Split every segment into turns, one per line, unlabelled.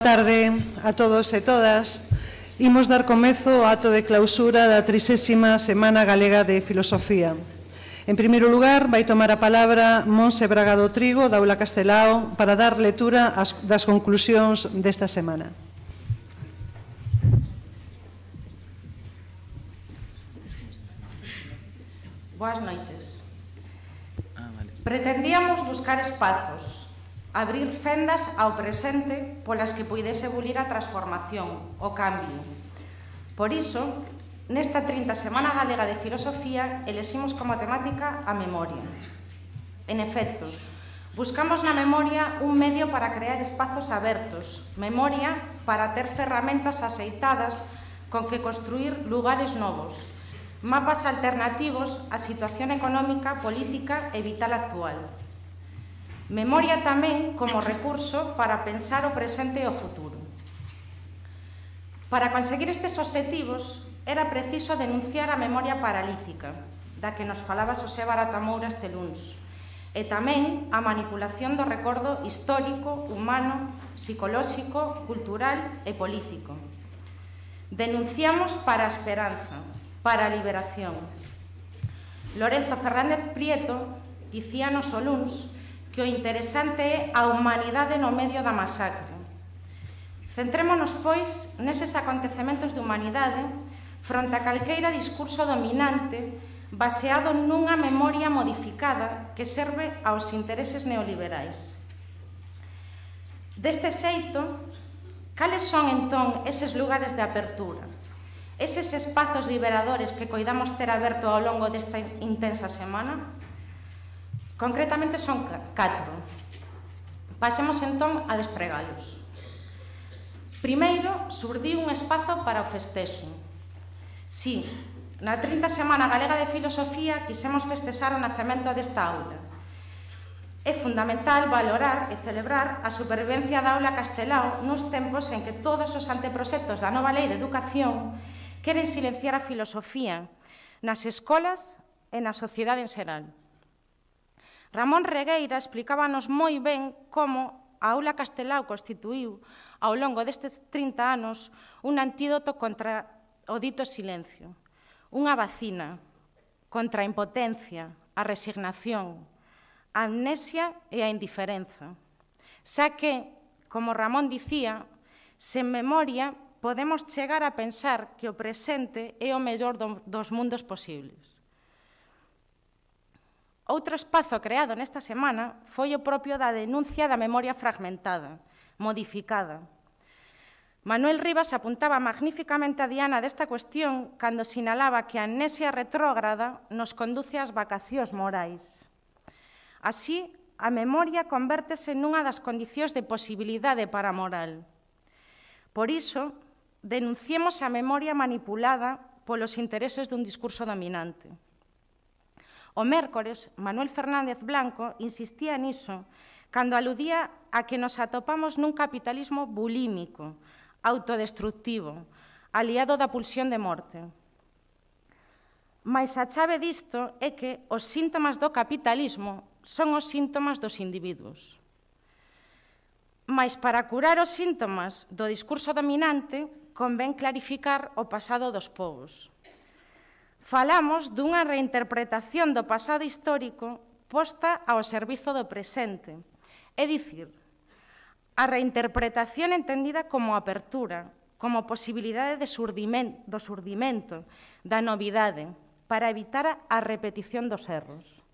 Boa tarde a todos e todas. Imos dar comezo ao acto de clausura da 30ª Semana Galega de Filosofía. En primeiro lugar, vai tomar a palabra Montse Bragado Trigo, da Aula Castelao, para dar lectura das conclusións desta semana.
Boas noites. Pretendíamos buscar espazos, abrir fendas ao presente polas que puidese bulir a transformación, o cambio. Por iso, nesta 30 Semana Galega de Filosofía, eleximos como temática a memoria. En efecto, buscamos na memoria un medio para crear espazos abertos, memoria para ter ferramentas aceitadas con que construir lugares novos, mapas alternativos á situación económica, política e vital actual. Memoria tamén como recurso para pensar o presente e o futuro. Para conseguir estes obxectivos, era preciso denunciar a memoria paralítica, da que nos falaba Xosé Baratamoura este luns, e tamén a manipulación do recordo histórico, humano, psicolóxico, cultural e político. Denunciamos para a esperanza, para a liberación. Lorenzo Fernández Prieto dicíanos o luns que o interesante é a humanidade no medio da masacre. Centrémonos, pois, neses acontecementos de humanidade fronte a calqueira discurso dominante baseado nunha memoria modificada que serve aos intereses neoliberais. Deste xeito, cales son, entón, eses lugares de apertura? Eses espazos liberadores que coidamos ter aberto ao longo desta intensa semana? Concretamente son 4. Pasemos entón a despregalos. Primeiro, surdiu un espazo para o festexo. Si, na 30 Semana Galega de Filosofía quisemos festexar o nacemento desta aula. É fundamental valorar e celebrar a supervivencia da Aula Castelao nos tempos en que todos os anteproxectos da nova lei de educación queren silenciar a filosofía nas escolas e na sociedade en xeral. Ramón Regueira explicábanos moi ben como a Aula Castelao constituíu ao longo destes 30 anos un antídoto contra o dito silencio, unha vacina contra a impotencia, a resignación, a amnesia e a indiferenza. Xa que, como Ramón dicía, sen memoria podemos chegar a pensar que o presente é o mellor dos mundos posibles. Outro espazo creado nesta semana foi o propio da denuncia da memoria fragmentada, modificada. Manuel Rivas apuntaba magníficamente a diana desta cuestión cando sinalaba que a amnesia retrógrada nos conduce ás vacacións morais. Así, a memoria convértese nunha das condicións de posibilidade para a moral. Por iso, denunciemos a memoria manipulada polos intereses dun discurso dominante. O mércores, Manuel Fernández Blanco insistía niso cando aludía a que nos atopamos nun capitalismo bulímico, autodestructivo, aliado da pulsión de morte. Mais a chave disto é que os síntomas do capitalismo son os síntomas dos individuos. Mais para curar os síntomas do discurso dominante, convén clarificar o pasado dos povos. Falamos dunha reinterpretación do pasado histórico posta ao servizo do presente, é dicir, a reinterpretación entendida como apertura, como posibilidade do surdimento, da novidade, para evitar a repetición dos erros.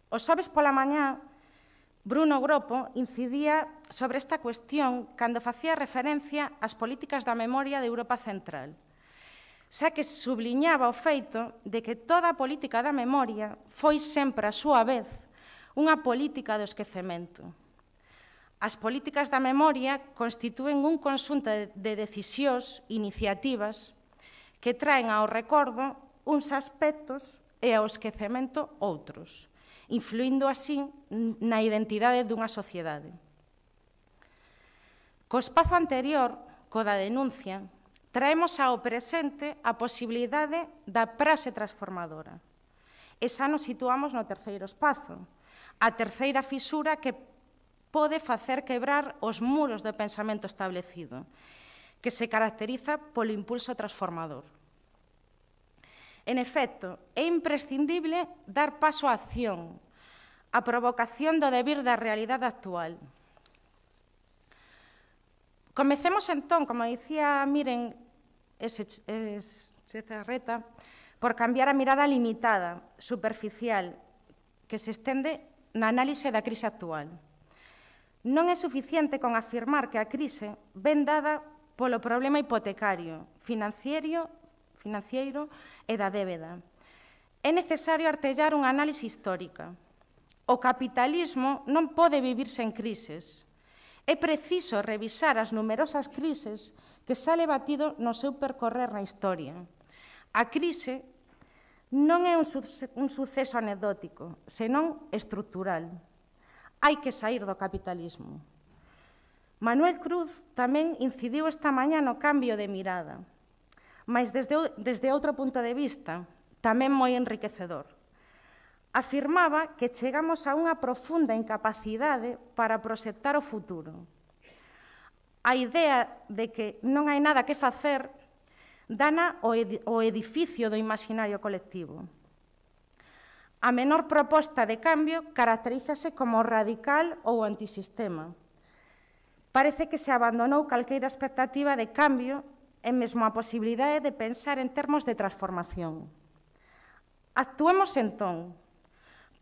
O xoves pola mañá, Bruno Gropo incidía sobre esta cuestión cando facía referencia ás políticas da memoria de Europa Central, xa que subliñaba o feito de que toda a política da memoria foi sempre, a súa vez, unha política do esquecemento. As políticas da memoria constitúen un conxunto de decisións, iniciativas, que traen ao recordo uns aspectos e ao esquecemento outros, influindo así na identidade dunha sociedade. Co espazo anterior, co da denuncia, traemos ao presente a posibilidade da praxe transformadora. E xa nos situamos no terceiro espazo, a terceira fisura que pode facer quebrar os muros do pensamento establecido, que se caracteriza polo impulso transformador. En efecto, é imprescindible dar paso á acción, a provocación do devir da realidade actual. Comecemos entón, como dicía Miren Etxezarreta, por cambiar a mirada limitada, superficial, que se estende na análise da crise actual. Non é suficiente con afirmar que a crise ven dada polo problema hipotecario, financiero e da débeda. É necesario artellar unha análise histórica. O capitalismo non pode vivir sen crises. É preciso revisar as numerosas crises que sale batido no seu percorrer na historia. A crise non é un suceso anecdótico, senón estrutural. Hai que saír do capitalismo. Manuel Cruz tamén incidiu esta mañá no cambio de mirada, mas desde outro punto de vista, tamén moi enriquecedor. Afirmaba que chegamos a unha profunda incapacidade para proxectar o futuro. A idea de que non hai nada que facer dana o edificio do imaginario colectivo. A menor proposta de cambio caracterízase como radical ou antisistema. Parece que se abandonou calqueira expectativa de cambio e mesmo a posibilidade de pensar en termos de transformación. Actuemos entón,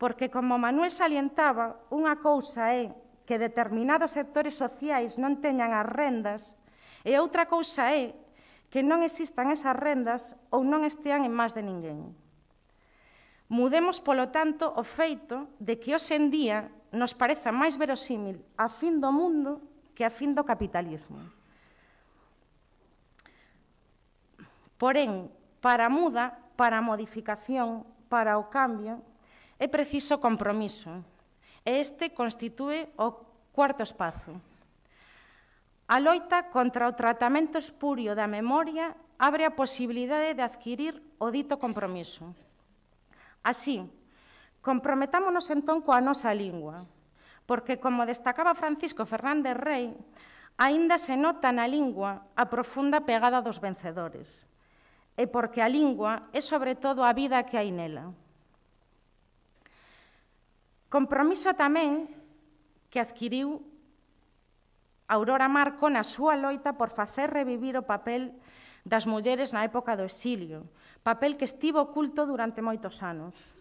porque, como Manuel salientaba, unha cousa é que determinados sectores sociais non teñan as rendas e outra cousa é que non existan esas rendas ou non estean en más de ninguén. Mudemos, polo tanto, o feito de que hoxe en día nos pareza máis verosímil a fin do mundo que a fin do capitalismo. Porén, para a muda, para a modificación, para o cambio, é preciso compromiso. E este constitúe o cuarto espazo. A loita contra o tratamento espurio da memoria abre a posibilidade de adquirir o dito compromiso. Así, comprometámonos entón coa nosa lingua, porque, como destacaba Francisco Fernández Rey, aínda se nota na lingua a profunda pegada dos vencedores, e porque a lingua é sobre todo a vida que hai nela. Compromiso tamén que adquiriu Aurora Marco na súa loita por facer revivir o papel das mulleres na época do exilio, papel que estivo oculto durante moitos anos.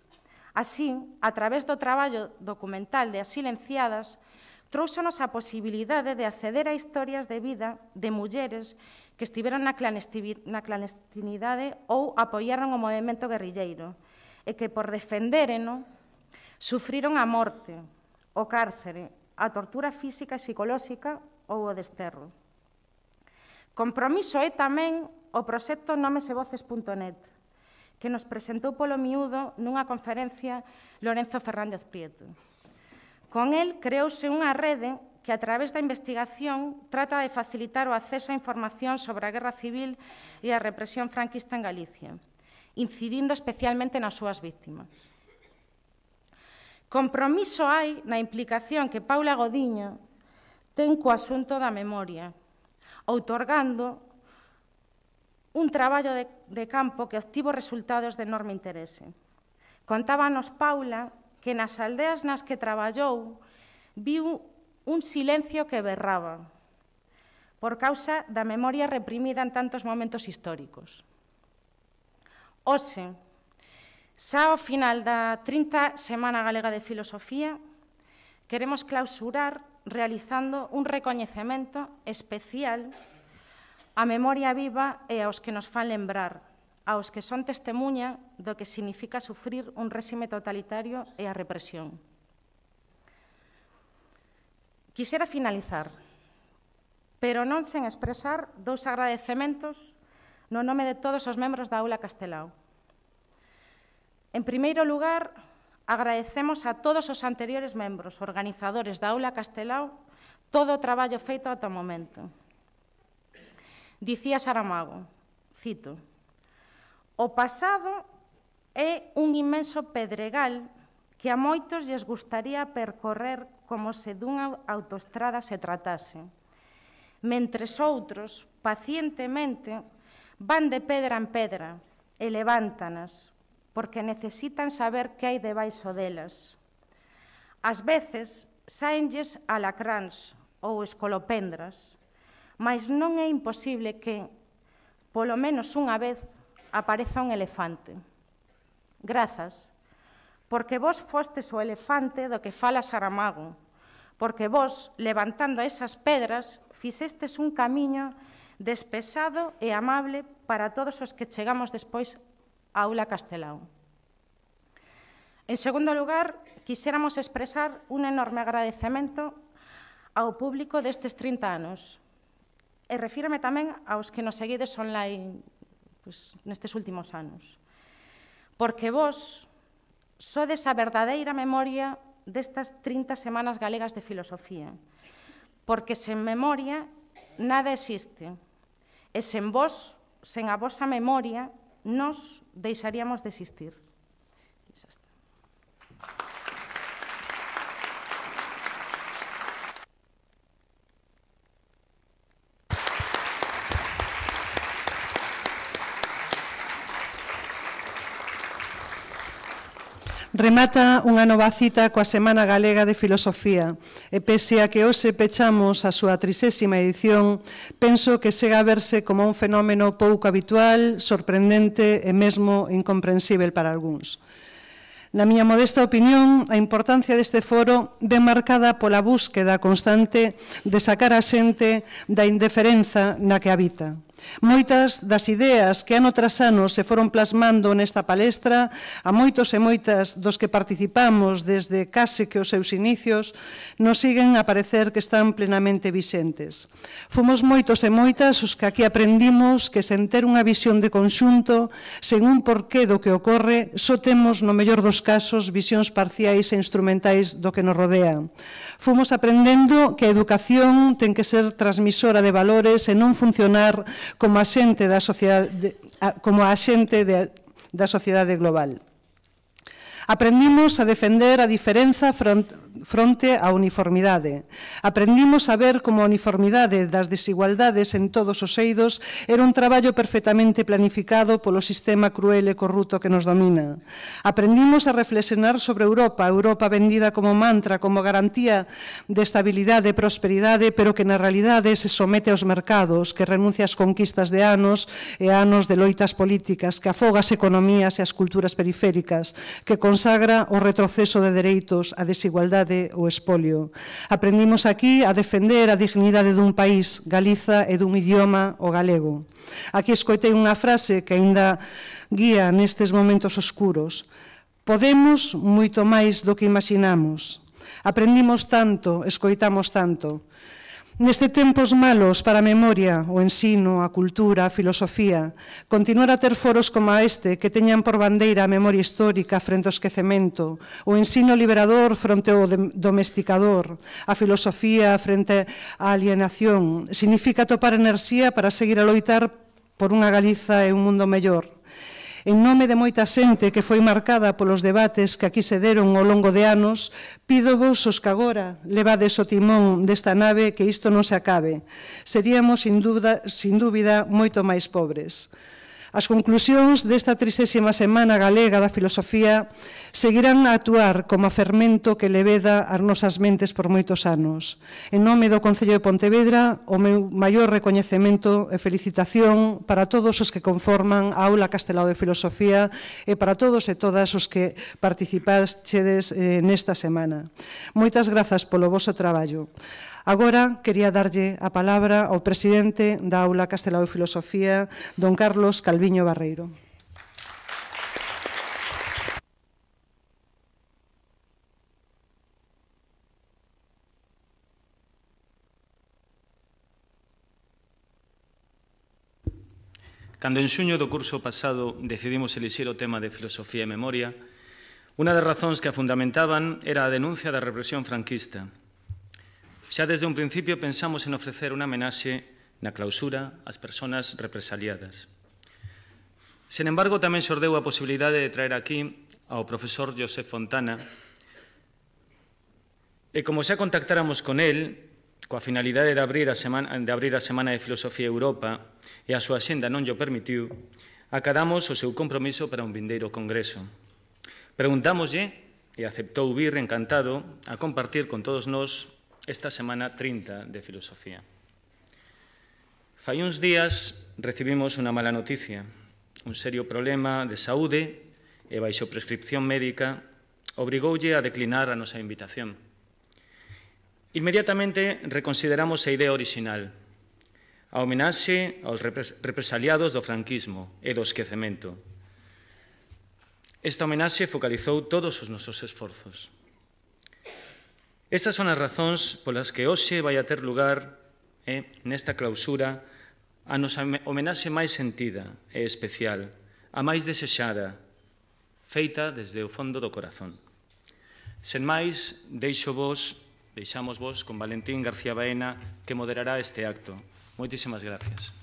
Así, a través do traballo documental de As Silenciadas, trouxonos a posibilidade de acceder a historias de vida de mulleres que estiveron na clandestinidade ou apoiaron o movemento guerrilleiro e que, por defendéreno, sufriron a morte, o cárcere, a tortura física e psicolóxica ou o desterro. Compromiso é tamén o proxecto nomesevoces.net, que nos presentou polo miúdo nunha conferencia Lorenzo Fernández Prieto. Con el creouse unha rede que, a través da investigación, trata de facilitar o acceso á información sobre a guerra civil e a represión franquista en Galicia, incidindo especialmente nas súas víctimas. Compromiso hai na implicación que Paula Godiño ten co asunto da memoria, outorgando un traballo de campo que obtivo resultados de enorme interese. Contábanos Paula que nas aldeas nas que traballou viu un silencio que berraba por causa da memoria reprimida en tantos momentos históricos. Hoxe, xa ao final da 30 Semana Galega de Filosofía, queremos clausurar realizando un recoñecemento especial á memoria viva e aos que nos fan lembrar, aos que son testemunha do que significa sufrir un réxime totalitario e a represión. Quixera finalizar, pero non sen expresar dous agradecementos no nome de todos os membros da Aula Castelao. En primeiro lugar, agradecemos a todos os anteriores membros, organizadores da Aula Castelao, todo o traballo feito ata o momento. Dicía Saramago, cito, "O pasado é un inmenso pedregal que a moitos lles gustaría percorrer como se dunha autoestrada se tratase, mentres outros, pacientemente, van de pedra en pedra e levántanas, porque necesitan saber que hai debaixo delas. Ás veces, sáenlles alacráns ou escolopendras, mas non é imposible que, polo menos unha vez, apareza un elefante. Grazas, porque vos fostes o elefante do que fala Saramago, porque vos, levantando esas pedras, fixestes un camiño despexado e amable para todos os que chegamos despois á Aula Castelao. En segundo lugar, quixéramos expresar un enorme agradecemento ao público destes 30 anos. E refírome tamén aos que nos seguides online nestes últimos anos. Porque vos sodes a verdadeira memoria destas 30 semanas galegas de filosofía. Porque sen memoria nada existe. E sen vos, sen a vosa memoria, nos deixaríamos de existir. Xa está.
Remata unha nova cita coa Semana Galega de Filosofía e pese a que hoxe pechamos a súa 30ª edición, penso que chega a verse como un fenómeno pouco habitual, sorprendente e mesmo incomprensível para algúns. Na miña modesta opinión, a importancia deste foro ven marcada pola búsqueda constante de sacar a xente da indiferenza na que habita. Moitas das ideas que ano tras ano se foron plasmando nesta palestra, a moitos e moitas dos que participamos desde case que os seus inicios, nos siguen a parecer que están plenamente vixentes. Fomos moitos e moitas os que aquí aprendimos que sen ter unha visión de conxunto, sen un porqué do que ocorre, só temos, no mellor dos casos, visións parciais e instrumentais do que nos rodea. Fomos aprendendo que a educación ten que ser transmisora de valores e non funcionar como axente da sociedade global. Aprendimos a defender a diferenza fronte á uniformidade. Aprendimos a ver como a uniformidade das desigualdades en todos os eidos era un traballo perfectamente planificado polo sistema cruel e corrupto que nos domina. Aprendimos a reflexionar sobre Europa, Europa vendida como mantra, como garantía de estabilidade e prosperidade, pero que na realidade se somete aos mercados, que renuncia ás conquistas de anos e anos de loitas políticas, que afoga as economías e as culturas periféricas, que consagra o retroceso de dereitos, a desigualdade, o espolio. Aprendimos aquí a defender a dignidade dun país, Galiza, e dun idioma, o galego. Aquí escoitei unha frase que aínda guía nestes momentos oscuros. Podemos moito máis do que imaginamos. Aprendimos tanto, escoitamos tanto. Neste tempos malos para a memoria, o ensino, a cultura, a filosofía, continuar a ter foros como este que teñan por bandeira a memoria histórica frente ao esquecemento, o ensino liberador fronte ao domesticador, a filosofía frente á alienación, significa topar enerxía para seguir a loitar por unha Galiza e un mundo mellor. En nome de moita xente que foi marcada polos debates que aquí se deron ao longo de anos, pídovos os que agora levades o timón desta nave que isto non se acabe. Seríamos, sin dúbida, moito máis pobres. As conclusións desta 30ª Semana Galega da Filosofía seguirán a actuar como a fermento que leveda as nosas mentes por moitos anos. En nome do Concello de Pontevedra, o meu maior recoñecemento e felicitación para todos os que conforman a Aula Castelao de Filosofía e para todos e todas os que participaxedes nesta semana. Moitas grazas polo voso traballo. Agora quería darlle a palabra ao presidente da Aula Castelao de Filosofía, don Carlos Calviño Barreiro.
Cando en xuño do curso pasado decidimos elixir o tema de filosofía e memoria, unha das razóns que a fundamentaban era a denuncia da represión franquista. Xa desde un principio pensamos en ofrecer unha homenaxe na clausura ás persoas represaliadas. Sen embargo, tamén xordeu a posibilidade de traer aquí ao profesor José Fontana E como xa contactáramos con el, coa finalidade de abrir a Semana de Filosofía Europa, e a súa xenda non llo permitiu, acadamos o seu compromiso para un vindeiro congreso. Preguntámoslle, e aceptou vir encantado, a compartir con todos nós esta Semana 30 de Filosofía. Fai uns días recibimos unha mala noticia, un serio problema de saúde e baixo prescripción médica obrigoulle a declinar a nosa invitación. Inmediatamente reconsideramos a idea orixinal, a homenaxe aos represaliados do franquismo e do esquecemento. Esta homenaxe focalizou todos os nosos esforzos. Estas son as razóns polas que hoxe vai a ter lugar, nesta clausura, a nosa homenaxe máis sentida e especial, a máis desexada, feita desde o fondo do corazón. Sen máis, deixamos vos con Valentín García Baena, que moderará este acto. Moitísimas gracias.